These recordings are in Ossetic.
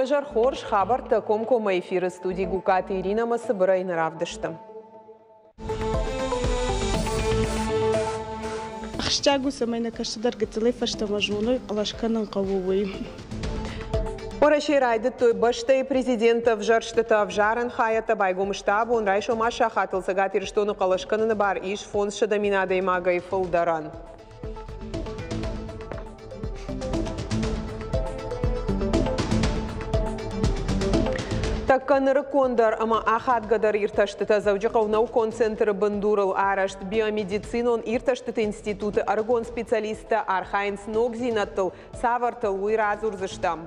Уӕ зӕр хорз, хабӕрттӕ комкоммӕ эфиры студи Гукаты Иринӕмӕ цыбырӕй нӕ равдысты. Ахсджиаг у, цӕмӕй нӕ кӕстӕр гыццылӕй фӕстӕмӕ зоной, хъӕлӕс кӕнын хъӕуы, уый. Уӕрӕсейы райдыдтой бӕстӕйы президенты ӕвзӕрстытӕ. Ӕвзарӕн хайӕдтӕ байгом сты абон райсом аст сахатыл Цӕгат Ирыстоны хъӕлӕс кӕныны бар ис 500 мин адӕймагӕй фылдӕрӕн. Тӕккӕ нырыккондӕр ӕмӕ ахадгӕдӕр иртӕстытӕ Дзӕуджыхъӕуы наукон центры бындурыл арӕзт биомедицинон иртӕстыты институты ӕрыгон специалисттӕ архайынц ногдзинӕдтыл, цавӕртыл, уый радзурдзыстӕм.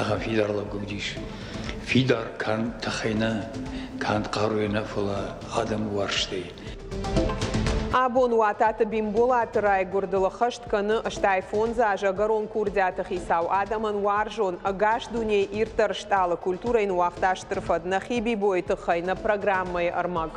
Ахӕм фидар лӕг уыдис. Фидар канд тыхӕй нӕ, канд хъаруйӕ нӕ, фӕлӕ адӕмы уарзтӕй. Абон Уататы Бимболаты райгуырдыл ӕххӕст кӕны 85 азы ӕгӕрон курдиаты хицау, адӕмӕн уарзон, ӕгас дунейы ирддӕр стъалы, культурӕйы ныууагъта стыр фӕд. Нӕхи Бибойы тыххӕй нӕ программӕйы ӕрмӕг.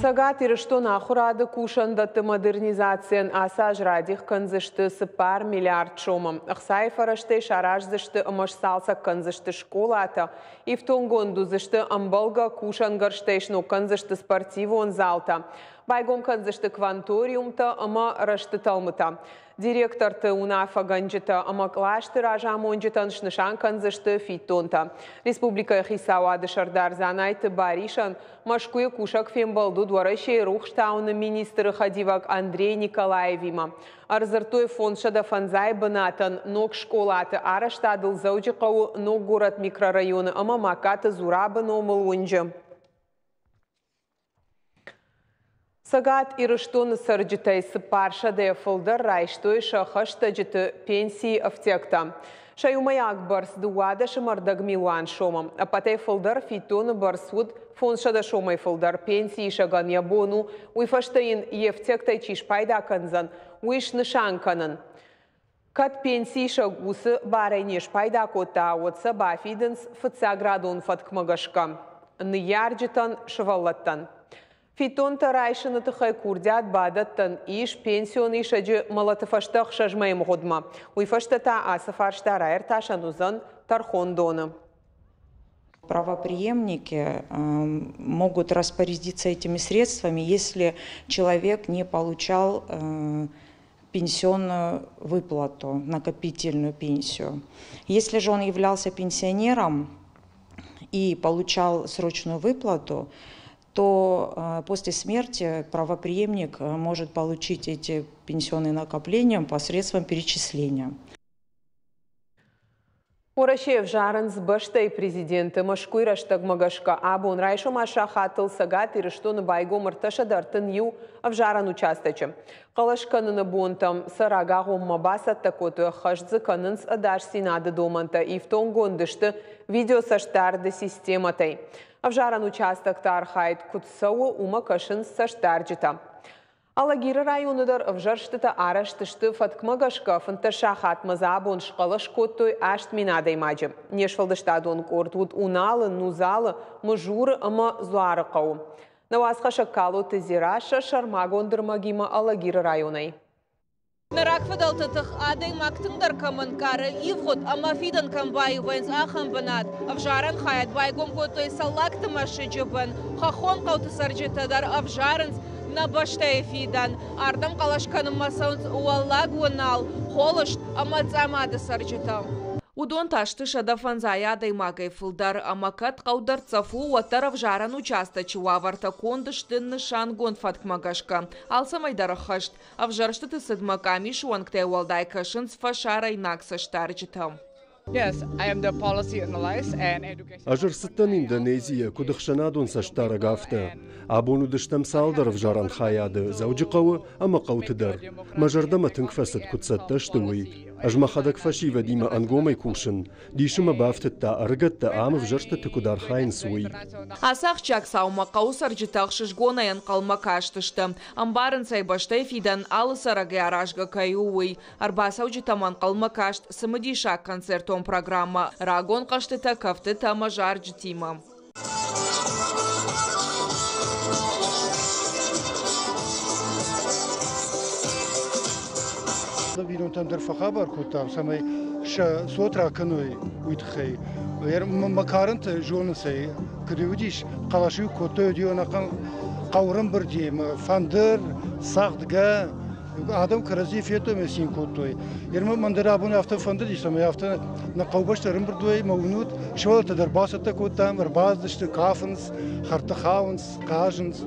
Цӕгат Ирыстоны ахуырады кусӕндӕтты модернизацийӕн ацы аз радих кӕндзысты 4 миллиард сомы. Ӕхцайы фӕрӕзтӕй сараздзысты ӕмӕ сцалцӕг кӕндзысты скъолатӕ, ифтонггонд уыдзысты ӕмбӕлгӕ кусӕнгӕрзтӕй сног кӕндзысты спортивон залтӕ, байгом кӕндзысты кванториумтӕ ӕмӕ рӕзты тӕлмытӕ. Директорты, уынаффӕгӕнджытӕ ӕмӕ кълӕсты разамонджытӕн снысан кӕндзысты фиддонтӕ. Республикӕйы хицауады сӕрдар Дзанайты Барисӕн Мӕскуыйы кусӕг фембӕлд уыд Уӕрӕсейы рухстауыны министры хӕдивӕг Андрей Николаевимӕ. Ӕрдзырдтой 505 бынатӕн ног скъолаты арӕзтадыл Дзӕуджыхъӕуы ног горӕт микрорайоны ӕмӕ Магкаты Зурабы номыл уынджы. Цӕгат Ирыстоны цӕрджытӕй 400-ӕй фылдӕр райстой сӕ хӕстӕджыты пенсийы ӕфтиӕгтӕ. Сӕ иумӕйаг бӕрц 12.5 милуан сомы. Ӕппӕтӕй фылдӕр фиддоны бӕрц уыд 500 сомӕй фылдӕр. Пенсиисӕгӕн йӕ бон у, уый фӕстӕ йын йе фтиӕгтӕй чи спайда кӕндзӕн, уый снысан кӕнын. Кӕд пенсиисӕг уыцы барӕй не спайда кодта, уӕд сӕ бафидынц фыццаградон фӕткмӕ гӕсгӕ ныййарджытӕн, сывӕллӕттӕн. Фиддонтӕ райсыны тыххӕй курдиат бадӕттӕн ис пенсион исӕджы мӕлӕты фӕстӕ 6 мӕйы мгъуыдмӕ. Уый фӕстӕ та ацы фарста раиртасӕн уыдзӕн тӕрхондоны. Правоприемники могут распорядиться этими средствами, если человек не получал пенсионную выплату, накопительную пенсию. Если же он являлся пенсионером и получал срочную выплату, то после смерти правоприемник может получить эти пенсионные накопления посредством перечисления. Уӕрӕсе ӕвзарынц бӕстӕйы президенты Мӕскуыйы рӕстӕгмӕ гӕсгӕ абон райсом сахатыл Цӕгат Ирыстоны байгом 331 ӕвзарӕн участочы. Хъӕлӕс кӕныны бонтӕм сӕ рагагъоммӕ бацӕттӕ кодтой, ӕххӕст дзы кӕнынц ӕдасдзинады домӕнтӕ, ифтонггонд сты видеоцӕстдарды системӕтӕй. Ӕвзарӕн участокты архайд куыд цӕуы, уымӕ кӕсынц цӕстдарджытӕ. Алагиры районы дӕр ӕвзӕрстытӕ арӕзт сты фӕткмӕ гӕсгӕ 15 сахатмӕ дзы абон схъӕлӕс кодтой 8000 адӕймаджы. Не сфӕлдыстадон къорд уыд Уналы, Нузалы, Мызуры ӕмӕ Дзуары хъӕуы. Нӕ уацхӕссӕг Калоты Дзерассӕ сӕрмагонд ӕрмӕгимӕ Алагиры районӕй. Нӕ рагфыдӕлты тых адӕймаг тынгдӕр кӕм ӕнкъары, ивгъуыд ӕмӕ фидӕн кӕм баиу вӕййынц, ахӕм бынат. Ӕвзарӕн хайад байгом кодтой Цӕллагты мӕсыджы бын. Хӕххон хъӕуты цӕрджытӕ дӕр ӕвзарынц нӕ бӕстӕйы фидӕн. Ардӕм хъӕлӕс кӕнынмӕ цӕуынц Уӕллаг Уынал, Холыст ӕмӕ Цъамады цӕрджытӕ. Уыдон та сты 105 адӕймагӕй фылдӕр ӕмӕ кӕд хъӕу дӕрддзӕф у, уӕддӕр ӕвзарӕн участочы уавӕртӕ конд сты нысангонд фӕткмӕ гӕсгӕ. Алцӕмӕй дӕр ӕххӕст. Ӕвзӕрстыты цыдмӕ къамисы уӕнгтӕй уӕлдай кӕсынц фӕсарӕйнаг цӕстдарджытӕ. Ӕз ӕрцыдтӕн Индонезийӕ, куыд ӕхсӕнадон цӕстдарӕг, афтӕ. Абон уыдыстӕм цалдӕр ӕвзарӕн хайады Дзӕуджыхъӕуы ӕмӕ хъӕуты дӕр. Мӕ зӕрдӕмӕ тынг фӕцыд, куыд цӕттӕ сты, уый. Ӕз мӕхӕдӕг фӕсивӕдимӕ ӕнгомӕй кусын. Дисы мӕ бафтыдта, ӕрыгӕттӕ ам ӕвзӕрстыты куыд архайынц, уый. Ацы ахсджиаг цаумӕ хъӕуы цӕрджытӕ ӕхсызгонӕй ӕнхъӕлмӕ кастысты. Ӕмбарынц ӕй, бӕстӕйы фидӕн алы цӕрӕгӕй аразгӕ кӕй у, уый. Ӕрбацӕуджытӕм ӕнхъӕлмӕ каст цымыдисаг концертон программӕ рагон хъӕзтытӕ, кӕфтытӕ ӕмӕ зарджытимӕ. Бинонтӕм дӕр фӕхабар кодтам, цӕмӕй сӕ цот ракӕной, уый тыххӕй. Мӕ карӕнты зонынц ӕй, куыд уыдис, хъӕлӕс-иу кодтой, уыди ӕнӕхъӕн хъӕуы фӕндыр, цӕгъдгӕ, адӕм кӕрӕдзи федтой ӕмӕ цин кодтой. Ермӕ мӕн дӕр абон афтӕ фӕндыдис, ӕмӕ афтӕ нӕ хъӕубӕсты ӕрӕмбырд уой ӕмӕ уынут, сывӕллӕттӕ дӕр бацӕттӕ кодтам, ӕрбацыдысты, кафынц, хӕрдты хауынц, хъазынц.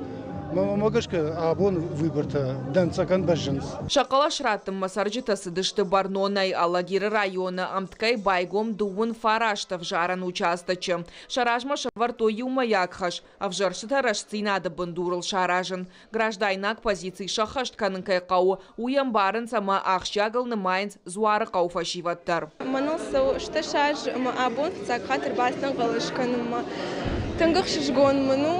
Мӕнмӕ гӕсгӕ абон выбортӕ дӕнцӕгӕн бӕззынц. Сӕ хъӕлӕс раттынмӕ цӕрджытӕ цыдысты бӕрнонӕй. Алагиры районы ӕмткӕй байгом 39 ӕвзарӕн участочы. Сӕ размӕ сӕвӕрдтой иумӕйаг хӕс – ӕвзӕрстытӕ рӕстдзинады бындурыл саразын. Граждайнаг позици сӕххӕст кӕнын кӕй хъӕуы, уый ӕмбарынц ӕмӕ ахсджиагыл нымайынц Дзуарыхъӕуы фӕсивӕд дӕр. Мӕныл цӕуы 18 азы ӕмӕ абон фыццаг хатт ӕрбацыдтӕн хъӕлӕс кӕнынмӕ. Тынг ӕхсызгон мын у,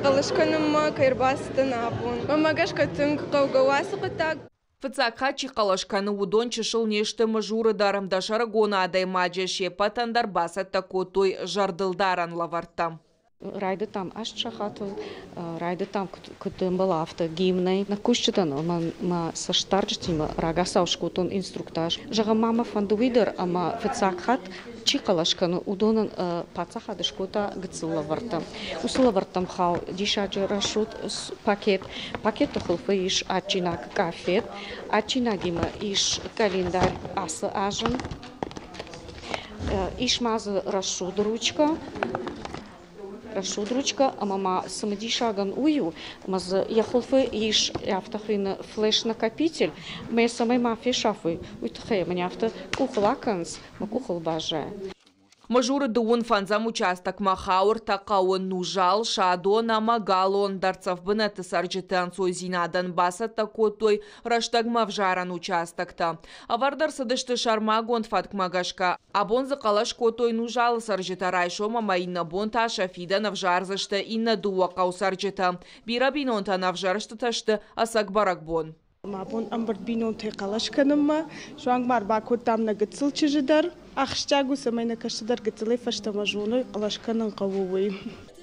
хъӕлӕс кӕнынмӕ кӕй ӕрбацыдтӕн абон. Мӕнмӕ гӕсгӕ тынг хъӕугӕ у ацы хъуыддаг. Фыццаг хатт чи хъӕлӕс кӕны, уыдон чысыл не сты Мызуры дӕр. Дӕсӕрыгон адӕймаджы се ппӕтӕн дӕр бацӕттӕ кодтой зӕрдылдарӕн лӕвӕрттӕ. Райдыдтам 8 сахатыл, райдыдтам куыд ӕмбӕлы, афтӕ гимнӕй. Нӕ кусджытӕн ӕмӕ мӕ цӕстдарджытимӕ рагацау скодтон инструктаж. Зӕгъӕм, ма мӕ фӕнды уый дӕр, ӕмӕ фыццаг хатт чи хъӕлӕс кӕны, уыдонӕн паддзахад скодта гыццыл лӕвӕрттӕ. Уыцы лӕвӕрттӕм хауы диссаджы рӕсугъд пакет. Пакеты хуылфы ис адджинаг къафет, адджинагимӕ ис къӕлиндарь ацы азы. Ис ма дзы рӕсугъд ручкӕ, рӕсугъд ручкӕ ӕмӕ ма цымыдисагӕн уый у, ӕмӕ дзы йӕ хуылфы ис афтӕ хуыйны флеш-накопитель, ӕмӕ йӕ цӕмӕй ма фесафой, уый тыххӕй мын афтӕ къухыл акӕнынц, мӕ къухыл баззайы. Мызуры 35-ӕм участокмӕ хауы ӕртӕ хъӕуы Нузал, Садон ӕмӕ Галон. Дӕрддзӕф бынӕтты цӕрджыты ӕнцойдзинадӕн бацӕттӕ кодтой рӕстӕгмӕ ӕвзарӕн участоктӕ. Ӕвӕрд ӕрцыдысты сӕрмагонд фӕткмӕ гӕсгӕ. Абон дзы хъӕлӕс кодтой Нузалы цӕрджытӕ, райсом ӕмӕ иннӕ бон та сӕ фидӕн ӕвзардзысты иннӕ дыууӕ хъӕуы цӕрджытӕ. Бирӕ бинонтӕн ӕвзӕрстытӕ сты ӕцӕг бӕрӕгбон. Мӕ бон ӕмбырд бинонтӕй хъӕлӕс кӕнынмӕ. Суанг ма ӕрбакодтам нӕ гыццыл чызджы дӕр. Ахсджиаг у, цӕмӕй нӕ кӕстӕр гыццылӕй фӕстӕмӕ зоной, хъӕлӕс кӕнын хъӕуы, уый.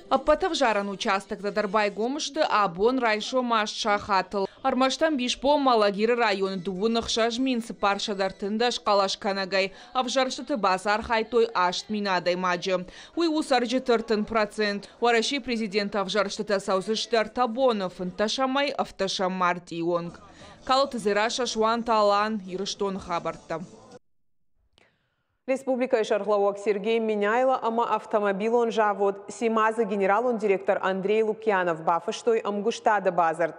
Ӕппӕт ӕвзарӕн участоктӕ дӕр байгом сты абон райсом 8 сахатыл. Ӕрмӕст ӕмбисбонмӕ Алагиры районы 26 413 хъӕлӕскӕнӕгӕй ӕвзӕрстыты бацархайдтой 8000 адӕймаджы. Уый у цӕрджыты 30%. Уӕрӕсейы президенты ӕвзӕрстытӕ цӕудзысты ӕртӕ боны, 15-ӕй 17 мартъийы онг. Калоты Дзерассӕ, Суанты Алан, Ирыстоны хабӕрттӕ. Республикӕйы сӕргълӕууӕг Сергей Меняйло ӕмӕ автомобилон завод «Симаз-ы» генералон директор Андрей Лукьянов бафыстой ӕмгуыстады бадзырд.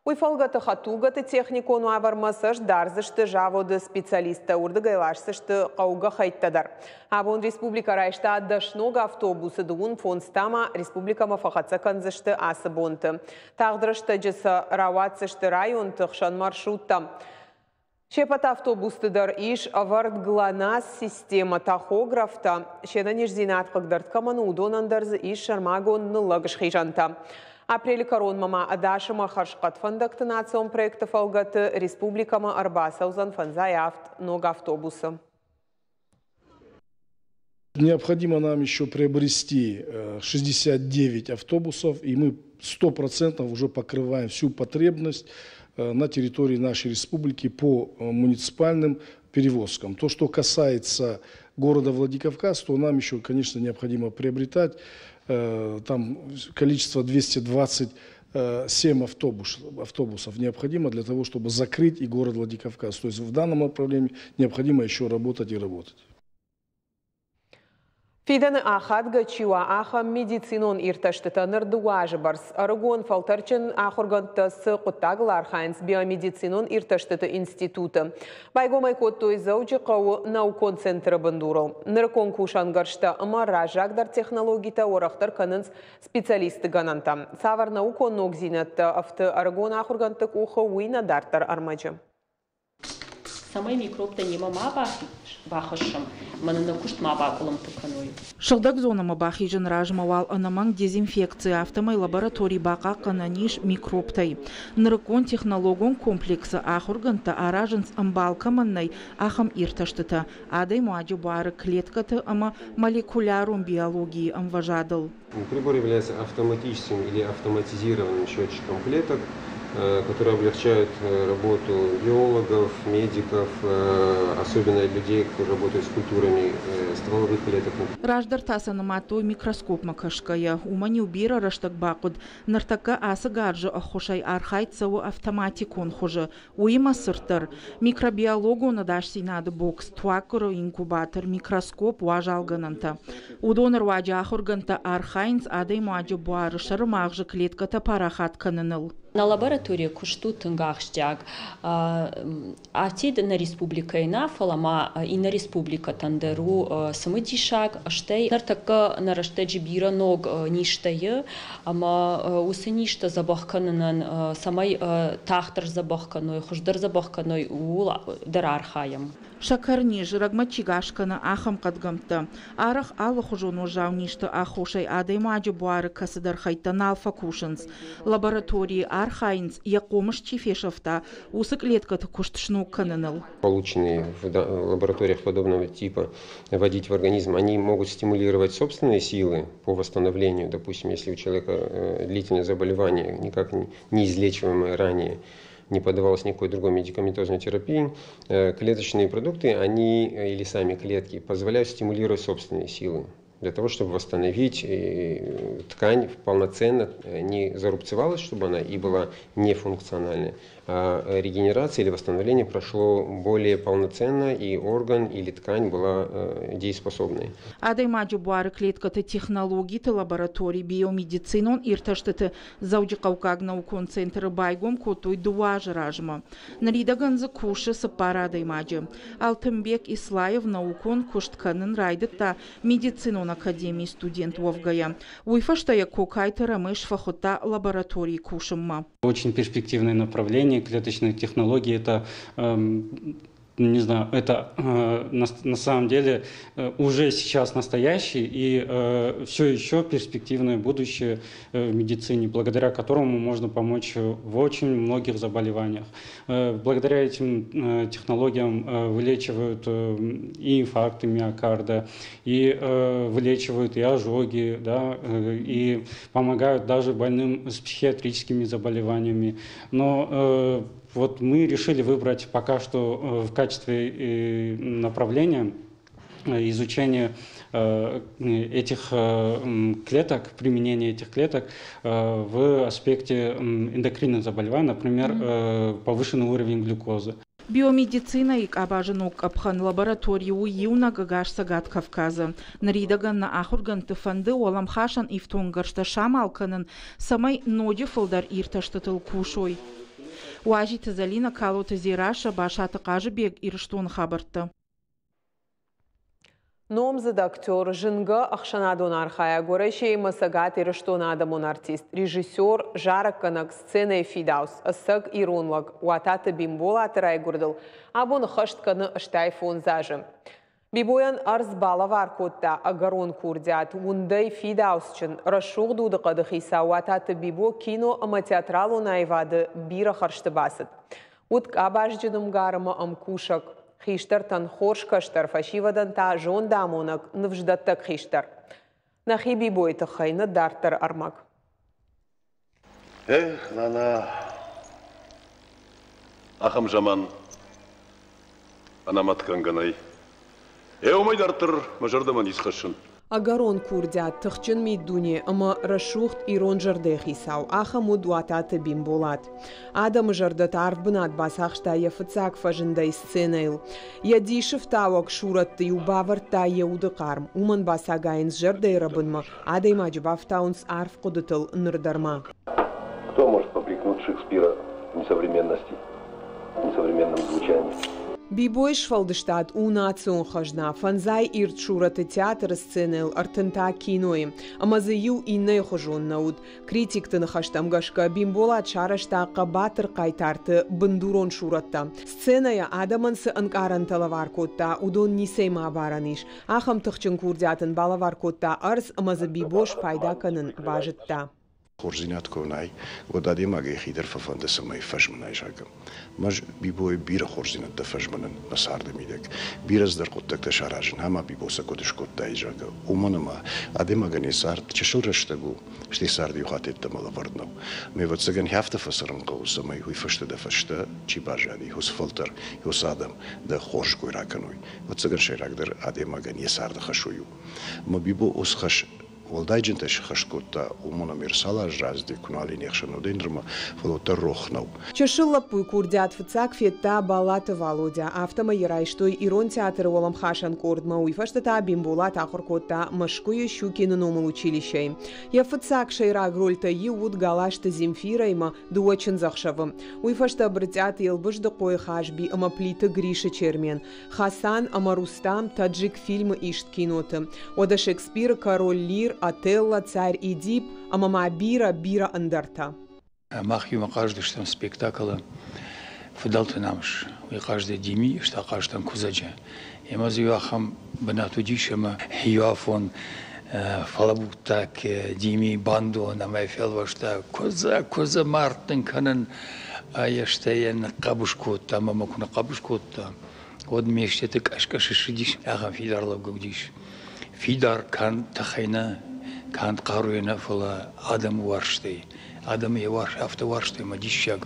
Уый фӕлгӕты хӕдтулгӕты техникон уавӕрмӕ цӕст дардзысты заводы специалисттӕ, уырдыгӕй ласдзысты хъӕугӕ хӕйттӕ дӕр. Абон республикӕ райста 10 ног автобусы, 25 та ма республикӕмӕ фӕхӕццӕ кӕндзысты ацы бонты. Тагъд рӕстӕджы сӕ рауадздзысты районты хсӕн маршруттӕ. Се ппӕт автобусты дӕр ис ӕвӕрд ГЛОНАСС-системӕ, тахографтӕ. Се нӕниздзинад хъыгдард кӕмӕн у, уыдонӕн дӕр дзы ис сӕрмагонд ныллӕг схизӕнтӕ. Апрелы кӕронмӕ ма ӕдас ӕмӕ хӕрзхъӕд фӕндӕгты национ проекты фӕлгӕты республикӕмӕ ӕрбацӕудзӕн 57 ног автобусы. Необходимо нам еще приобрести 69 автобусов, и мы 100% уже покрываем всю потребность на территории нашей республики по муниципальным перевозкам. То, что касается города Владикавказ, то нам еще, конечно, необходимо приобретать там количество 227 автобусов необходимо для того, чтобы закрыть и город Владикавказ. То есть в данном направлении необходимо еще работать и работать. Фидӕны ахадгӕ чи уа, ахӕм медицинон иртӕстытӕ ныр 2 азы бӕрц ӕрыгон фӕлтӕрджын ахуыргӕндтӕ цы хъуыддагыл архайынц биомедицинон иртӕстыты институты. Байгом ӕй кодтой Дзӕуджыхъӕуы наукон центры бындурыл. Нырыккон кусӕнгӕрзтӕ ӕмӕ раззагдӕр технологитӕ уӕрӕхдӕр кӕнынц специалистты гӕнӕнтӕ. Цавӕр наукон ногдзинӕдтӕ ӕфты ӕрыгон ахуыргӕндты къухы, уый нӕ дарддӕр ӕрмӕджы. Цӕмӕй микробтӕ немӕ ма бахӕссӕм ӕмӕ нын нӕ куыст ма бакъуылымпы кӕной. Сыгъдӕг зонӕмӕ бахизыны размӕ уал ӕнӕмӕнг дезинфекци, афтӕмӕй лаборатори бахъахъхъӕнӕн ис микробтӕй. Нырыккон технологон комплексы ахуыргӕндтӕ аразынц ӕмбал кӕмӕн нӕй, ахӕм иртӕстытӕ адӕймаджы буары клеткӕты ӕмӕ молекулярон биологийы ӕмвӕзадыл. Прибор является автоматическим или автоматизированным счетчиком клеток, которые облегчают работу биологов, медиков, особенно людей, которые работают с культурами стволовых клеток. Раздӕр та сӕ нымадтой микроскопмӕ кӕсгӕйӕ. Уымӕн-иу бирӕ рӕстӕг бахъуыд. Ныртӕккӕ ацы гарзы ӕххуысӕй архайд цӕуы автоматикон хуызы. Уыимӕ цырддӕр. Микробиологон ӕдасдзинады бокс, туаггуыры инкубатор, микроскоп, уазалгӕнӕнтӕ. Уыдоны руаджы ахуыргӕндтӕ архайынц адӕймаджы буары сӕрымагъзы клеткӕтӕ парахат кӕныныл. Нӕ лабораторийы куыст у тынг ахсджиаг. Афтид нӕ республикӕйы нӕ, фӕлӕ ма иннӕ республикӕтӕн дӕр у цымыдисаг. Стӕй ныртӕккӕ нӕ рӕстӕджы бирӕ ног низтӕ и, ӕмӕ уыцы низтӕ дзӕбӕх кӕнынӕн, цӕмӕй тагъддӕр дзӕбӕх кӕной, хуыздӕр дзӕбӕх кӕной, ууыл дӕр архайӕм. Сӕкӕрниз, рӕгмӕ чи гас кӕны, ахӕм хъӕдгӕмттӕ. Арӕх алыхуызон уӕззау низты аххосӕй адӕймаджы буары кӕцыдӕр хӕйттӕ нал фӕкусынц. Лабораторийы архайынц, йӕ хъомыс чи фесӕфта, уыцы кълеткӕты куыст сног кӕныныл. Полученные в лабораториях подобного типа вводить в организм, они могут стимулировать собственные силы по восстановлению. Допустим, если у человека длительное заболевание, никак не излечиваемое ранее, не поддавалось никакой другой медикаментозной терапии, клеточные продукты, они или сами клетки позволяют стимулировать собственные силы для того, чтобы восстановить ткань полноценно, не зарубцевалась, чтобы она и была нефункциональной, а регенерация или восстановление прошло более полноценно, и орган или ткань была дееспособной. Адӕймаджы буары клеткӕты технологиты лаборатори биомедицинон иртӕстыты Дзӕуджыхъӕуккаг наукон центры байгом кодтой дыууӕ азы размӕ. Ныридӕгӕн дзы кусы цыппар адӕймаджы. Алтынбек Ислаев наукон куыст кӕнын райдыдта медицинон академийы студент уӕвгӕйӕ. Уый фӕстӕ йӕ Кокайты Рамеш фӕхуыдта лабораторийы кусынмӕ. Очень перспективное направление клеточной технологии – это не знаю, это на самом деле уже сейчас настоящий и все еще перспективное будущее в медицине, благодаря которому можно помочь в очень многих заболеваниях. Благодаря этим технологиям вылечивают и инфаркты миокарда, и вылечивают и ожоги, да, и помогают даже больным с психиатрическими заболеваниями. Но вот мы решили выбрать пока что в качестве направления изучение этих клеток, применение этих клеток в аспекте эндокринных заболеваний, например, повышенный уровень глюкозы. Биомедицинӕйы къабазы ног къӕпхӕн лаборатори у иунӕг ӕгас Цӕгат Кавказы. Ныридӕгӕн нӕ ахуыргӕндты фӕнды уӕлӕмхасӕн ифтонггӕрзтӕ самал кӕнын, цӕмӕй ноджы фылдӕр иртӕстытыл кусой. Уазиты Зӕлинӕ, Калоты Дзерассӕ, Басаты Хъазыбег, Ирыстоны хабӕрттӕ. Номдзыд актер, зынгӕ ӕхсӕнадон архайӕг, Уӕрӕсейы Цӕгат Ирыстоны адӕмон артист, режиссер, зарӕггӕнӕг, сценӕйы фидауц, ӕцӕг ирон лӕг Уататы Бимболаты райгуырдыл абон ӕххӕст кӕны 85 азы. Бибойӕн ӕрдз балӕвар кодта ӕгӕрон курдиат, уындӕй фидауцджын, рӕсугъд удыхъӕды хицау Уататы Бибо кино ӕмӕ театралон аивады бирӕ хӕрзты бацыд. Уыд къабазджын ӕмгар ӕмӕ ӕмкусӕг. Хистӕртӕн хорз кӕстӕр, фӕсивӕдӕн та зондамонӕг, ныфсдӕттӕг хистӕр. Нӕхи Бибойы тыххӕй нӕ дарддӕр ӕрмӕг. Эх, нана, ахӕм заман ӕнӕмӕтгӕнгӕ нӕй. Е уымӕй дарддӕр мӕ зӕрдӕмӕ ницы хӕссын. Ӕгӕрон курдиат, тыхджын миддуне ӕмӕ рӕсугъд ирон зӕрдӕйы хицау ахӕм уыд Уататы Бимболат. Адӕмы зӕрдӕты арф бынат бацахста йӕ фыццаг фӕзындӕй сценӕйыл. Йӕ дисы фтауӕг сурӕтты-иу бавӕрдта йӕ уды хъарм. Уымӕн бацагайынц зӕрдӕйы рӕбынмӕ, адӕймаджы бафтауынц арф хъуыдытыл ныр дӕр ма. Кто может попрекнуть Шекспира в несовременности, в несовременном звучании? Бибойы сфӕлдыстад у национ хӕзна, фӕндзай ирд сурӕты театры сценӕйыл, ӕртынтӕ кинойы. Ӕмӕ дзы иу иннӕйы хуызон нӕ уыд. Критикты ныхӕстӕм гӕсгӕ, Бимболат сарӕзта хъӕбатыр хъайтарты бындурон сурӕттӕ. Сценӕйӕ адӕмӕн цы ӕнкъарӕнтӕ лӕвар кодта, уыдон ницӕимӕ абарӕн ис. Ахӕм тыхджын курдиат ын балӕвар кодта ӕрдз ӕмӕ дзы Бибо спайда кӕнын базыдта. Хорздзинад куы нӕй, уӕд адӕймаг йӕхи дӕр фӕфӕнды, цӕмӕй фӕзмынай, зӕгъгӕ. Мӕз Бибойы бирӕ хорздзинӕдтӕ фӕзмынын мӕ царды мидӕг. Бирӕ цыдӕр хъуыддӕгтӕ саразын, ӕмӕ Бибо сӕ куыд скодтаид, зӕгъгӕ. Уымӕн ӕмӕ адӕймагӕн йӕ цард чысыл рӕстӕг у, стӕй цард иу хатт йеддӕмӕ лӕвӕрд нӕу. Ме ӕвӕццӕгӕн, афтӕ фӕцӕрын хъӕуы, цӕмӕй уый фӕстӕ дӕ фӕстӕ чи баззади, уыцы фӕлтӕр, уыцы адӕм дӕ хорз кой ракӕной. Ӕвӕццӕгӕн, сӕйрагдӕр адӕймагӕн йӕ царды хӕс уый у. Ӕмӕ Бибо уыцы хӕс уӕлдайджынтӕ сыххӕст кодта, уымӕн ӕмӕ ӕрцал аз раздӕр куы нал и не хсӕн уыд нырмӕ, фӕлӕ уӕддӕр рох нӕу. Чысыл лӕппуйы курдиат фыццаг федта Балаты Валодя, афтӕмӕй йӕ райстой Ирон театры уӕлӕмхасӕн къордмӕ, уый фӕстӕ та Бимболат ахуыр кодта Мӕскуыйы Щукины номыл училищӕйы. Йӕ фыццаг сӕйраг рольтӕй иу уыд Галазты Земфирӕимӕ дыууӕ чындзӕхсӕвы. Уый фӕстӕ Брытъиаты Елбыздыхъойы Хазби ӕмӕ Плиты Грисы Чермен. Хасан ӕмӕ Рустам Таджикфильмы ист киноты. Уӕдӕ Шекспиры Король Лир, Отелло, Царь Эдип ӕмӕ ма бирӕ, бирӕ ӕндӕртӕ. Мах иумӕ хъазыдыстӕм спектаклы Фыдӕлты намыс. Уый хъазыди Дими, ӕз та хъазтӕн Куыдзӕджы. Ӕмӕ дзы иу ахӕм бынат уыдис, ӕмӕ иу афон фӕлӕбурдта Дими бандон ӕмӕ фелвӕста Куыдзӕ, Куыдзӕ, мард дын кӕнын! Ӕй стӕй йӕ ныхъхъӕбыс кодта ӕмӕ мӕ куы ныхъхъӕбыс кодта, уӕд ме стӕты къӕс-къӕс ссыдис, ахӕм фидар лӕугӕ уыдис. Фидар канд тыхӕй нӕ, канд хъаруйӕ нӕ, фӕлӕ адӕмы уарзтӕй. Адӕмы йӕ уарз, афтӕ уарзтой ӕмӕ диссаг.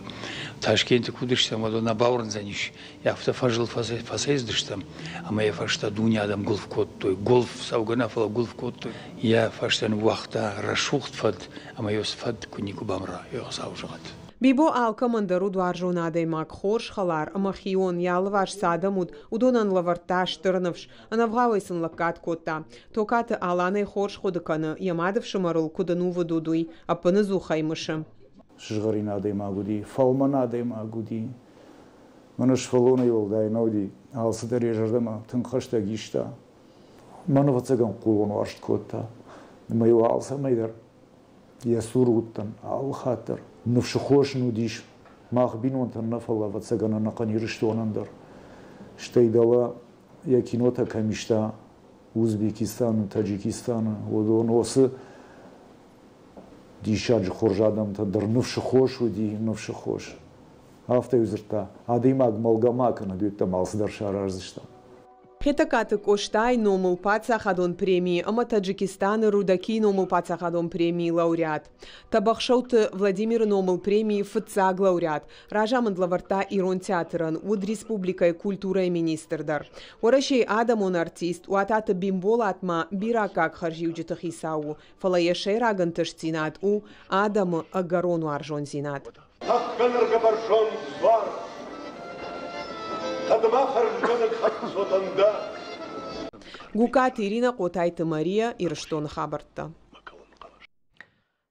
Ташкенты куы уыдыстӕм, уӕд нӕ бауырндзӕнис, афтӕ фӕзыл фӕцӕйцыдыстӕм, ӕмӕ йӕ фӕстӕ дуне адӕм гуылф кодтой. Гуылф цӕугӕ нӕ, фӕлӕ гуылф кодтой. Йӕ фӕстӕ ныууагъта рӕсугъд фӕд, ӕмӕ йӕ фӕд куы никуы бамра, йӕ Хуыцау зӕгъӕд. Бибо алкӕмӕн дӕр уыд уарзон адӕймаг, хорз хӕлар ӕмӕ хион, йӕ алыварс цы адӕм уыд, уыдонӕн лӕвӕрдта стыр ныфс, ӕнӕвгъауӕй сын лӕггад кодта. Токаты Аланӕй хорз хъуыды кӕны, йӕ мадыфсымӕрыл куыд ӕнувыд уыд, уый, ӕппыныдзух ӕй мысы. Сызгъӕрин адӕймаг уыди, фӕлмӕн адӕймаг уыди. Мӕнӕ сывӕллонӕй уӕлдай нӕ уыди, алцыдӕр йӕ зӕрдӕмӕ тынг хӕстӕг иста. Мӕн, ӕвӕццӕгӕн, хъулон уарзт кодта. Ӕмӕ-иу алцӕмӕй дӕр йӕ цуры уыдтӕн алы хатт дӕр. Ныфсы хос ын уыдис мах бинонтӕн нӕ, фӕлӕ, ӕвӕццӕгӕн, ӕнӕхъӕн Ирыстонӕн дӕр. Стӕй дӕлӕ йӕ кинотӕ кӕм иста Узбекистаны, Таджикистаны, уыдон уыцы диссаджы хорз адӕмтӕн дӕр ныфсы хос уыди, ныфсы хос. Афтӕ-иу дзырдта, адӕймаг мӕлгӕ ма кӕнӕд, уеддӕмӕ алцыдӕр сараздзыстӕм. Хетӕгкаты Къостайы номыл паддзахадон премийы ӕмӕ Таджикистаны Рудакийы номыл паддзахадон премийы лауреат. Тӕбӕхсӕуты Владимиры номыл премийы фыццаг лауреат. Разамынд лӕвӕрдта Ирон театрӕн, уыд республикӕйы культурӕйы министр дӕр. Уӕрӕсейы адӕмон артист Уататы Бимболат ма бирӕ аккаг хӕрзиуджыты хицау у, фӕлӕ йӕ сӕйраг ӕнтыстдзинад у адӕмы ӕгӕрон уарзондзинад. Тӕхгӕнӕргӕ бӕрзонд дзуар, кӕдмӕ хӕрзгӕнӕг хӕццотӕн дӕ. Гукаты Ирина, Хъотайты Мария, Ирыстоны хабӕрттӕ.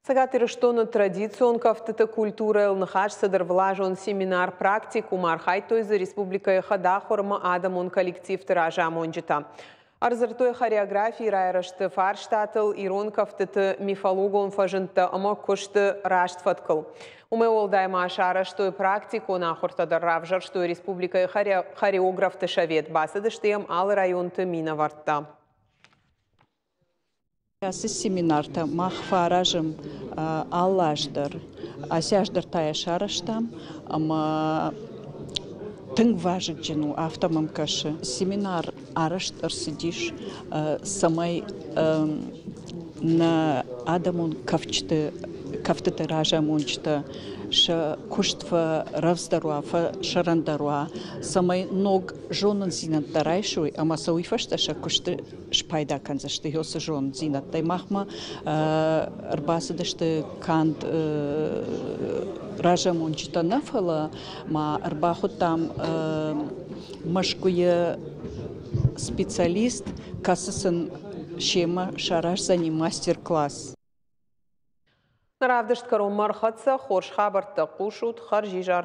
Цӕгат Ирыстоны традицион кӕфтыты культурӕйыл ныхас цыд ӕрвылазон семинар-практикум, архайдтой дзы республикӕйы хӕдахуыр ӕмӕ адӕмон коллективты разамонджытӕ. Ӕрдзырдтой хореографийы райрӕзты фарстатыл, ирон кӕфтыты мифологон фӕзындтӕ ӕмӕ куысты раст фӕткыл. Уымӕй уӕлдай ма сарӕзтой практикон ахуыртӕ дӕр, равзӕрстой республикӕйы хореографты совет, бацыдысты йӕм алы районты минӕвӕрттӕ. Ацы семинартӕ мах фӕаразӕм алы аз дӕр. Ацы аз дӕр та йӕ сарӕзтам ӕмӕ тынг вазыгджын у, афтӕ мӕм кӕсы. Семинар арӕзт ӕрцыдис, цӕмӕй нӕ адӕмон кафджыты кӕфтыты разамонджытӕ сӕ куыст фӕрӕвдздӕр уа, фӕсӕрӕндӕр уа, цӕмӕй ног зонындзинӕдтӕ райсой ӕмӕ сӕ уый фӕстӕ сӕ куысты спайда кӕндзысты уыцы зонддзинӕдтӕй. Махмӕ ӕрбацыдысты канд разамонджытӕ нӕ, фӕлӕ ма ӕрбахуыдтам Мӕскуыйы специалист, кӕцы сын семӕ сараздзӕни мастер-класс. Равдыст кӕронмӕ ӕрхӕццӕ, хорз хабӕрттӕ хъусут, хӕрзизӕр.